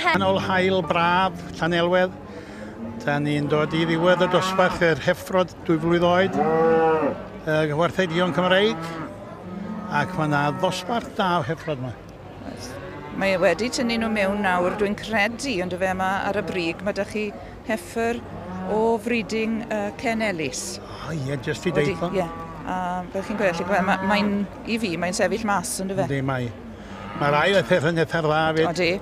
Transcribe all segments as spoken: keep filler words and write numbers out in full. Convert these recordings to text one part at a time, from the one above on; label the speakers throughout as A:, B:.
A: Canol haul braf, Llanelwedd. Da ni'n dod i ddiwedd y dosbarth yr heffrod dwy flwydd oed, y gwartheg duon Cymreig, ac mae yna ddosbarth da o heffrod yma.
B: Mae e wedi tynnu nhw mewn nawr, dwi'n credu, ond fe yma ar y brig, mae 'da chi heffer o freeding uh, Ken Ellis.
A: O ie, jyst i deithio.
B: Ie, a fel chi'n gweld, mae'n, mae i fi, mae'n sefyll mas, ond fe.
A: Yndi, mae. Mae'r ail peth yn eitha dda fyd.
B: Odi.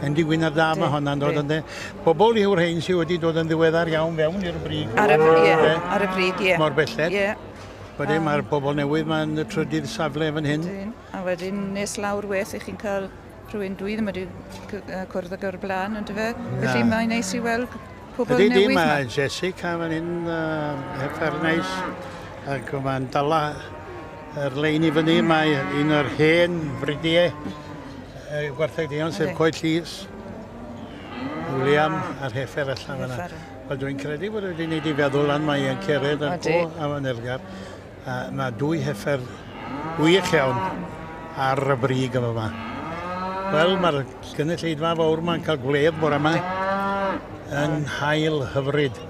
A: Endi Gwyn ar da mae honna'n dod ynddi. Bobl yw'r rhain sydd wedi dod yn ddiweddar iawn fewn i'r brig.
B: Ar y, ie, ar y brig, ie.
A: Mor belled.
B: Ie.
A: Wedyn mae'r bobl newydd ma'n trydydd safle fan hyn.
B: Ydyn. A wedyn nes lawr weth i chi'n cael rhywun dwi ddim wedi cwrdd ag o'r blaen, ond fe. Felly mae'n neis i weld pobl
A: Ydy,
B: newydd.
A: Ydy, mae Jessica fan hyn, uh, heffer neis, ac mae'n dala yr lein i fyny. Mae un o'r hen fridiau gwartheg duon, sef Coed Llys, William a'r heffer allan fyna. Wel, dwi'n credu bod wedi gwneud i feddwl lan, mae e'n cered yn go a mae'n elgar. Mae dwy heffer wych iawn ar y brig yma yma. Wel, mae'r gynulleidfa fawr ma'n cael gwledd bore yma yn haul hyfryd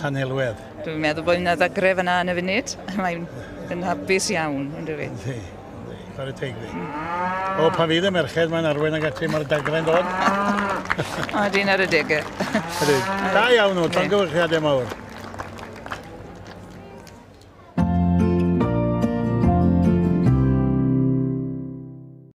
A: Llanelwedd.
B: Dwi'n meddwl bod yna ddagre fyna yn y funud. Mae'n yn hapus iawn, yn dwi?
A: Yndi, yndi, chwarae teg fi. O, pan fydd y merched mae'n arwain ag ati, mae'r dagre'n dod.
B: O, dyn ar y degau.
A: Ydyn. Da iawn nhw, llongyfarchiadau mawr.